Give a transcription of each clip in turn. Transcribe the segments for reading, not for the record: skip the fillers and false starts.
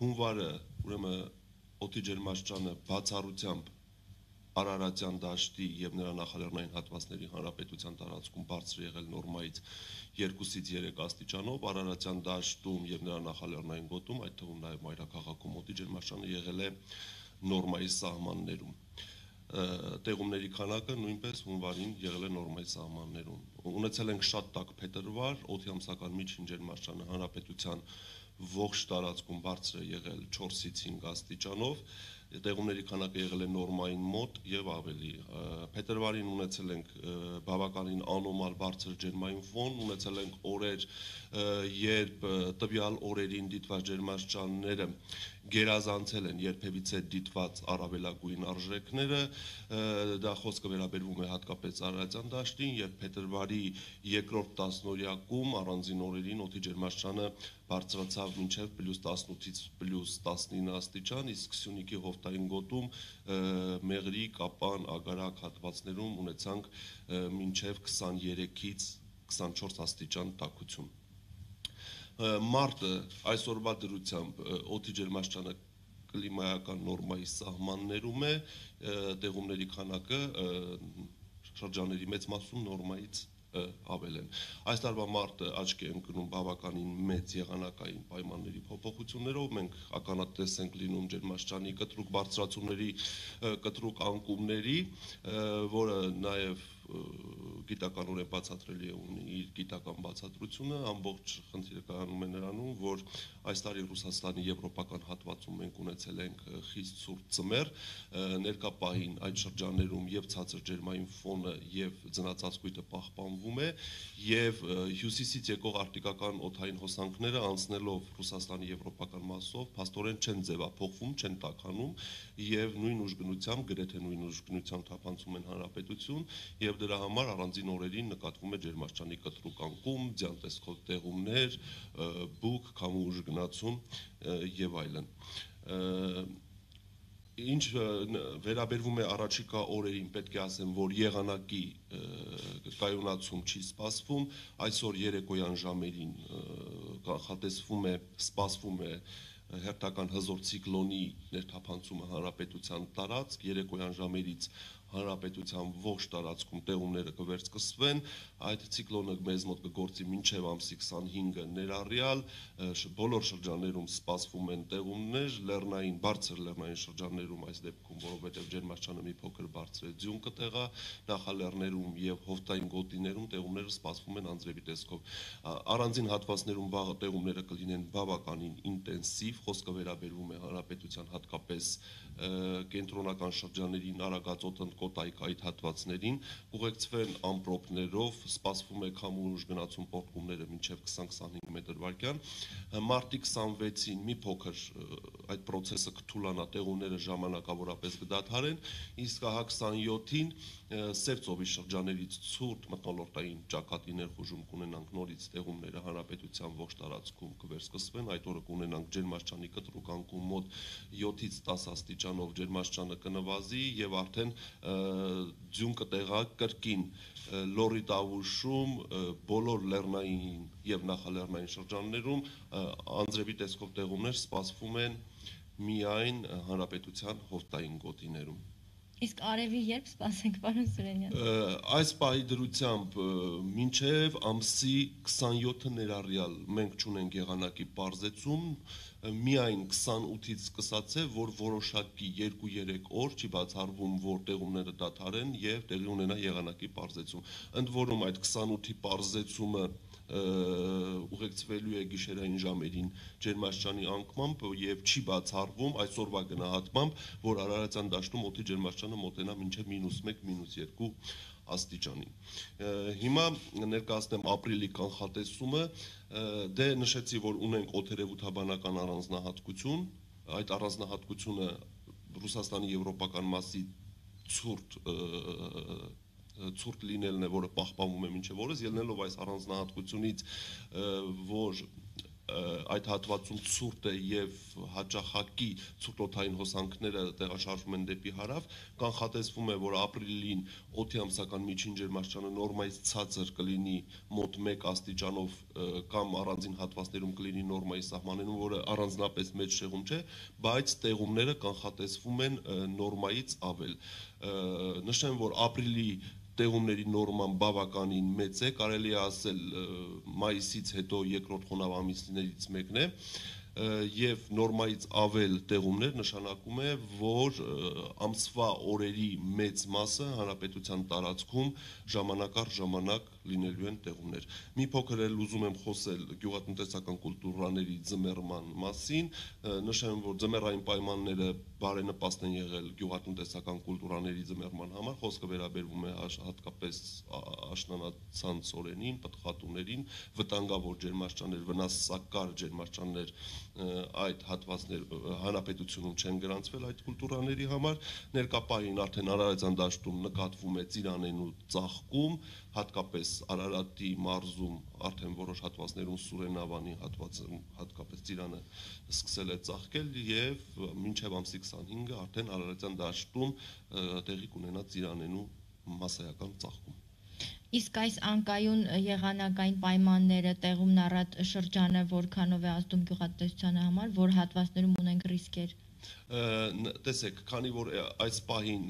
հունվարը ուրեմն օդի ջերմաստիճանը բացառությամբ Արարատյան դաշտի եւ նրա նախալեռնային հատվածների հանրապետության տարածքում բարձր եղել նորմայից 2-ից 3 աստիճանով, Արարատյան դաշտում եւ նրա նախալեռնային գոտում, այդ թվում նաեւ մայրաքաղաքում օդի ջերմաստիճանը եղել է նորմայի սահմաններում։ Տեղումների քանակը նույնպես հունվարին եղել է նորմայի սահմաններում։ Ունեցել ենք շատ տաք փետրվար, օդի ամսական միջին ջերմաստիճանը հանրապետության ողջ տարածքում բարձր է եղել 4-ից 5 աստիճանով, տեղումների քանակը եղել է նորմային մոտ եւ ավելի։ Փետրվարին ունեցել ենք բավականին անոմալ բարձր ջերմային ֆոն, ունեցել ենք օրեր, երբ տվյալ օրերին դիտված ջերմաստիճանները գերազանցել են երբևիցե դիտված առավելագույն արժեքները, դա խոսքը վերաբերվում է հատկապես Արարատյան դաշտին, երբ փետրվարի երկրորդ տասնօրյակում առանձին օրերին օդի ջերմաստիճանը բարձրացավ մինչև +18-ից +19 աստիճան, իսկ Սյունիքի հովտային գոտում Մեղրի, Կապան, Ագարակ հատվածներում ունեցանք մինչև 23-ից 24 աստիճան տաքություն։ Մարտը այսօրվա դրությամբ օդի ջերմաստիճանը կլիմայական նորմայի սահմաններում է, տեղումների քանակը շրջանների մեծ մասում նորմայից ավել են։ Այս տարվա մարտը աչքի է ընկնում բավականին մեծ եղանակային պայմանների փոփոխություններով, մենք ականատես ենք լինում ջերմաստիճանի կտրուկ բարձրացումների, կտրուկ անկումների, որը նաև գիտականորեն բացատրելի է, ունի իր գիտական բացատրությունը, ամբողջ խնդիրը կայանում է նրանում, որ այս տարի Ռուսաստանի եվրոպական հատվածում մենք ունեցել ենք խիստ ցուրտ ձմեռ, ներկա պահին այդ շրջաններում եւ ցածր ջերմային ֆոնը եւ ձնածածկույթը պահպանվում է եւ հյուսիսից եկող արտիկական օդային հոսանքները անցնելով Ռուսաստանի եվրոպական մասով փաստորեն չեն ձևափոխվում, չեն տաքանում եւ նույն ուժգնությամբ, գրեթե նույն ուժգնությամբ թափանցում են հանրապետություն եւ դրա համար առանձին օրերին նկատվում է ջերմաստիճանի կտրուկ անկում, ձյան տեսքով տեղումներ, բուք, քամու ուժգնացում եւ այլն։ Ինչ վերաբերվում է առաջիկա օրերին, պետք է ասեմ, որ եղանակի կայունացում չի սպասվում, այսօր երեկոյան ժամերին սպասվում է հերթական հզոր ցիկլոնի ներթափանցումը հանրապետության տարածք, երեկոյան ժամերից հանրապետության ողջ տարածքում տեղումները կվերսկսվեն, այդ ցիկլոնը մեզ մոտ կգործի մինչև ամսի 25-ը ներառյալ, բոլոր շրջաններում սպասվում են տեղումներ, լեռնային, բարձր լեռնային շրջաններում այս դեպքում, որովհետև ջերմաստիճանը մի փոքր բարձր է, ձյուն կտեղա, նախալեռներում եւ հովտային գոտիներում տեղումները սպասվում են անձրևի տեսքով։ Առանձին հատվածներում վաղը տեղումները կլինեն բավականին ինտենսիվ, խոսքը վերաբերվում է հանրապետության հատկապես կենտրոնական շրջաներին, Արագածոտ, Ընկոտայք այդ հատվածներին, կուղեկցվեն ամպրոպներով, սպասվում է քամու ուժգնացում պոռթկումները մինչև 20-25 մետր/վայրկյան, մարտի 26-ին մի փոքր այդ process-ը կթուլանա, տեղումները ժամանակավորապես կդադարեն, իսկ հա 27-ին Սև ծովի շրջաներից ցուրտ մթնոլորտային ճակատի ներխուժում կունենանք նորից տեղումները հանրապետության ողջ տարածքում կվերսկսվեն, այդ օրը կունենանք ջերմաստիճանի կտրուկ անկում մոտ 7-ից 10 աստիճանով ջերմաստիճանը կնվազի եւ արդեն ձյուն կտեղա կրկին լոռի տավուշում բոլոր լեռնային եւ նախալեռնային շրջաններում անձրևի տեսքով տեղումներ սպասվում են միայն հանրապետության հովտային գոտիներում։ Իսկ արևի երբ սպասենք, պարոն Սուրենյան։ Այս պահի դրությամբ մինչև ամսի 27-ը ներառյալ մենք չունենք եղանակի պարզեցում, միայն 28-ից սկսած է, որ որոշակի 2-3 օր չի բացառվում, որ տեղումները դադարեն եւ տեղի ունենա եղանակի պարզեցում։ Ընդ որում այդ 28-ի պարզեցումը ուղեկցվելու է գիշերային ժամերին ջերմաստիճանի անկմամբ եւ չի բացառվում այսօրվա գնահատմամբ, որ Արարատյան դաշտում օդի ջերմաստիճանը մոտենա մինչև -1, -2 աստիճանի։ Հիմա ներկայացնեմ ապրիլի կանխատեսումը, դե նշեցի, որ ունենք օդերևութաբանական առանձնահատկություն, այդ առանձնահատկությունը Ռուսաստանի եվրոպական մասի ցուրտ լինելն է, որը պահպանվում է մինչև օրս, ելնելով այս առանձնահատկությունից, որ այդ հատվածում ցուրտ է եւ հաճախակի ցուրտօթային հոսանքները տեղաշարժվում են դեպի հարավ, կանխատեսվում է, որ ապրիլին օդի ամսական միջին ջերմաստիճանը նորմայից ցածր կլինի մոտ 1 աստիճանով կամ առանձին հատվածներում կլինի նորմայի սահմաններում, որը առանձնապես մեծ շեղում չէ, բայց տեղումները կանխատեսվում են նորմայից ավել։ Նշեմ, որ ապրիլի տեղումների նորման բավականին մեծ է, կարելի է ասել մայիսից հետո երկրորդ խոնավ ամիսներից մեկն է, եւ նորմայից ավել տեղումներ նշանակում է, որ ամսվա օրերի մեծ մասը հանրապետության տարածքում ժամանակ առ ժամանակ լինելու են տեղումներ։ Մի փոքր էլ ուզում եմ խոսել գյուղատնտեսական կուլտուրաների ձմեռման մասին, նշեմ, որ ձմեռային պայմանները բարենպաստ են եղել գյուղատնտեսական կուլտուրաների ձմեռման համար, խոսքը վերաբերվում է հատկապես աշնանացանց օրերին, պտղատուներին, վտանգավոր ջերմաստիճաններ, վնասակար ջերմաստիճաններ այդ հատվածներ հանրապետությունում չեն գրանցվել այդ կուլտուրաների համար, ներկա պահին արդեն Արարատյան դաշտում նկատվում է ծիրանենու ծաղկում, հատկապես Արարատի մարզում արդեն որոշ հատվածներում Սուրենավանի հատվածում հատկապես ծիրանը սկսել է ծաղկել եւ մինչեւ ամսի 25-ը արդեն Արարատյան դաշտում տեղի կունենա ծիրանենու մասսայական ծաղկում։ Իսկ այս անկայուն եղանակային պայմանները, տեղումն առատ շրջանը որքանով է ազդում գյուղատնտեսությանը համար, որ հատվածներում ունենք ռիսկեր։ Տեսեք, քանի որ այս պահին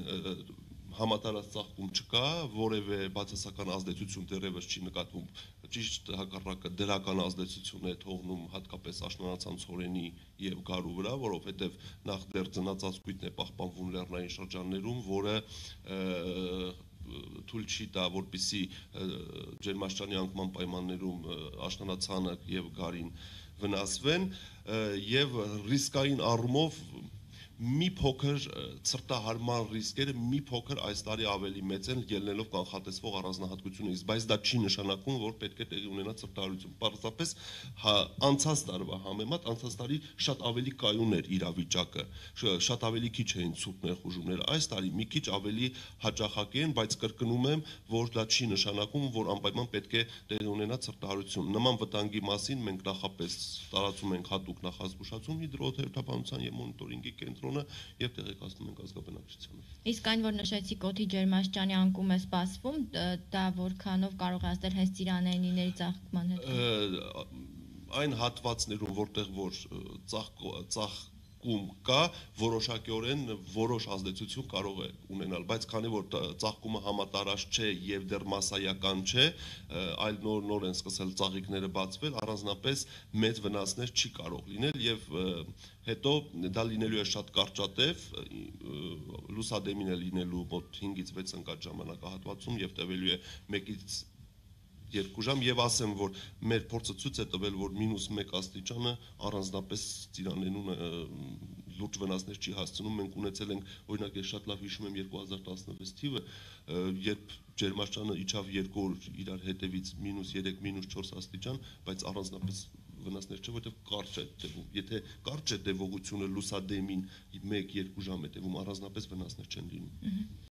համատարած ծաղկում չկա, որևէ բացասական ազդեցություն դեռևս չի նկատվում, ճիշտ հակառակը դրական ազդեցություն է թողնում հատկապես աշնանացանց օրենի եւ գարու վրա, որովհետեւ նախ դեռ ծնածածկույթն է պահպանվում լեռնային շրջաններում, որը թույլ չի տա, որպեսզի ջերմաստիճանի անկման պայմաններում աշնանացանը եւ գարին վնասվեն եւ ռիսկային առումով մի փոքր ցրտահարման ռիսկերը մի փոքր այս տարի ավելի մեծ են ելնելով կանխատեսվող առանձնահատկությունից, բայց դա չի նշանակում, որ պետք է տեղի ունենա ցրտահարություն։ Պարզապես անցած տարվա համեմատ անցած տարի շատ ավելի կայուն էր իրավիճակը, շատ ավելի քիչ էին ցուրտ ներխուժումները։ Այս տարի մի քիչ ավելի հաճախակի են, բայց կրկնում եմ, որ դա չի նշանակում, որ անպայման պետք է տեղի ունենա ցրտահարություն։ Նման վտանգի մասին մենք նախապես տարածում ենք հատուկ նախազգուշացում հիդրոթերապանության եւ մոնիտորինգի կենտրոն եւ տեղեկացնում ենք ազգաբնակչությանը։ Իսկ այն, որ նշեցիք օդի ջերմաստիճանի անկում է սպասվում, դա որքանով կարող է ազդել հենց ծիրանենիների ծաղկման հետ։ Այն հատվածներում, որտեղ որ ծաղկում կա, որոշակիորեն որոշ ազդեցություն կարող է ունենալ, բայց քանի որ ծաղկումը համատարած չէ եւ դեռ մասսայական չէ, այլ նոր են սկսել ծաղիկները բացվել, առանձնապես մեծ վնասներ չի կարող լինել եւ հետո դա լինելու է շատ կարճատև, լուսադեմին է լինելու մոտ 5-ից 6 ընկած ժամանակահատվածում եւ տևելու է 1-ից 2 ժամ եւ ասեմ, որ մեր փորձը ցույց է տվել, որ -1 աստիճանը առանձնապես ծիրանենուն լուրջ վնասներ չի հասցնում։ Մենք ունեցել ենք, օրինակ, ես շատ լավ հիշում եմ 2016 թիվը, երբ ջերմաստիճանը իջավ 2 օր իրար հետևից -3, -4 աստիճան, բայց առանձնապես վնասներ չէ, որովհետև կարճ է տևում։ Եթե կարճ է տևողությունը լուսադեմին 1-2 ժամ է տևում, առանձնապես վնասներ չեն լինում։